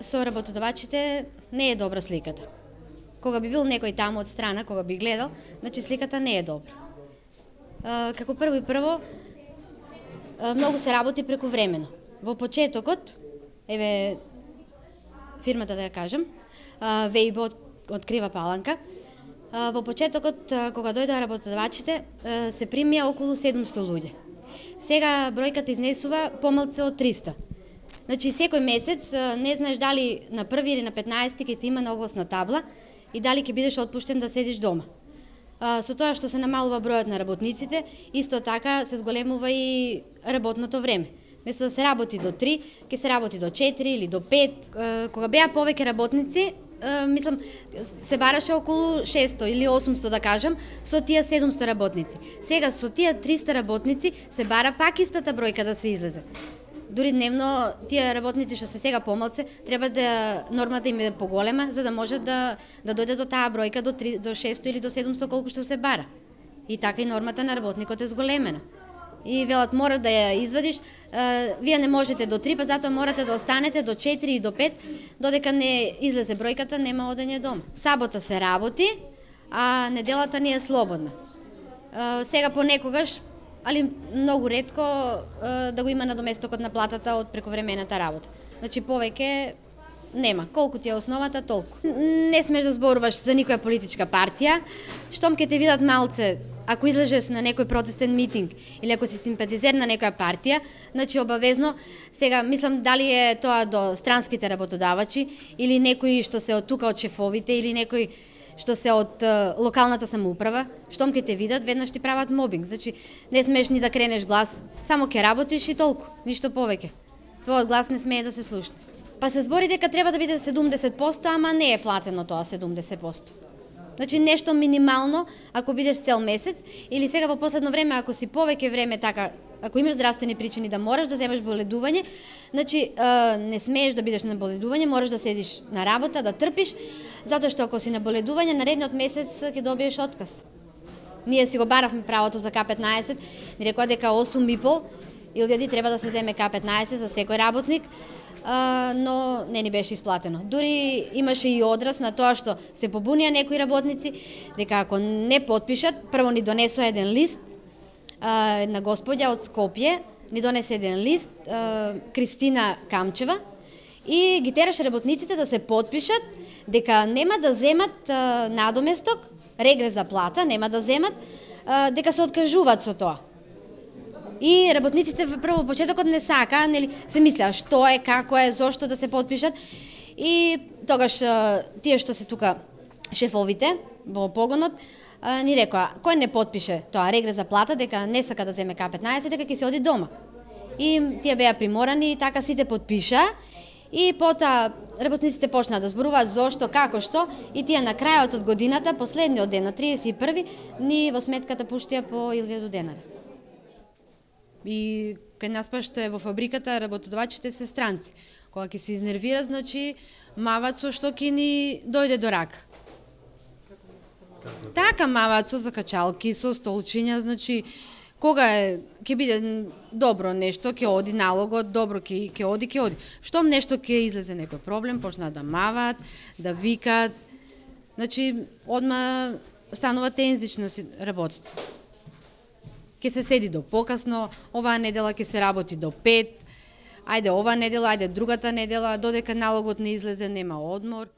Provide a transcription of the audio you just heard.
со работодавачите не е добра сликата. Кога би бил некој таму од страна, кога би гледал, значи сликата не е добра. Како прво и прво, многу се работи прековремено. Во почетокот, еве фирмата да ја кажам, Вејбо од Крива Паланка, во почетокот, кога дојдоа работодавачите, се примија околу 700 луѓе. Сега бројката изнесува помалку од 300. Значи, секој месец не знаеш дали на 1 или на 15 ќе ти има наогласна табла и дали ќе бидеш отпуштен да седиш дома. Со тоа што се намалува бројот на работниците, исто така се зголемува и работното време. Место да се работи до 3, ќе се работи до 4 или до 5. Кога беа повеќе работници, мислам, се бараше околу 600 или 800 да кажам, со тие 700 работници. Сега со тие 300 работници се бара пак истата бројка да се излезе. Дури дневно тие работници што се сега помалце, треба да нормата им е поголема за да може да дојде до таа бројка до 600 или до 700 колку што се бара. И така и нормата на работникот е зголемена. И велат мора да ја извадиш, вие не можете до 3, па затоа морате да останете до 4 и до 5, додека не излезе бројката, нема одење дома. Сабота се работи, а неделата не е слободна. Сега понекогаш, али многу ретко да го има надоместокот на платата од прековремената работа. Значи повеќе нема. Колку ти е основата, толку. Не смеш да зборуваш за никоја политичка партија. Штом ќе те видат малце, ако излезеш на некој протестен митинг или ако си симпатизер на некоја партија, значи обавезно, сега мислам дали е тоа до странските работодавачи или некои што се од тука од шефовите или некои што се од локалната самоуправа, штом ќе те видат, веднаш ти прават мобинг. Значи не смеш ни да кренеш глас, само ќе работиш и толку, ништо повеќе. Твојот глас не смее да се слушне. Па се збори дека треба да биде 70%, ама не е платено тоа 70%. Значи нешто минимално, ако бидеш цел месец, или сега во последно време, ако си повеќе време така, ако имаш здравствени причини да мораш да земеш боледување, значи не смееш да бидеш на боледување, мораш да седиш на работа, да трпиш, затоа што ако си на боледување, наредниот месец ќе добиеш отказ. Ние си го баравме правото за К15, ни рекоа дека 8,5 треба да се земе К15 за секој работник, но не ни беше исплатено. Дури имаше и одраз на тоа што се побунија некои работници, дека ако не потпишат, прво ни донесоа еден лист, на господја од Скопје, ни донесе еден лист, Кристина Камчева, и ги тераше работниците да се потпишат, дека нема да земат надоместок, регрес за плата, нема да земат, дека се откажуваат со тоа. И работниците прво почетокот не сака, нели, се мислеа што е, како е, зошто да се потпишат. И тогаш тие што се тука шефовите во погонот ни рекоа кој не потпише тоа регрес за плата, дека не сака да земе К15, дека ќе се оди дома. И тие беа приморани и така сите потпиша. И потоа работниците почнаа да зборуваат зошто, како, што, и тие на крајот од годината, последниот ден на 31 ни во сметката пуштија по 1000 денара. И кај нас па што е во фабриката, работодавачите се странци. Кога ќе се изнервират, значи мават со што ќе ни дојде до рака. Така мават со закачалки, со столчиња, значи кога ќе биде добро нешто, ќе оди налогот, добро ќе оди. Штом нешто ќе излезе некој проблем, почнаа да мават, да викат. Значи одма станува тензично си работите. Ќе се седи до покасно, оваа недела ќе се работи до 5, ајде оваа недела, ајде другата недела, додека налогот не излезе, нема одмор.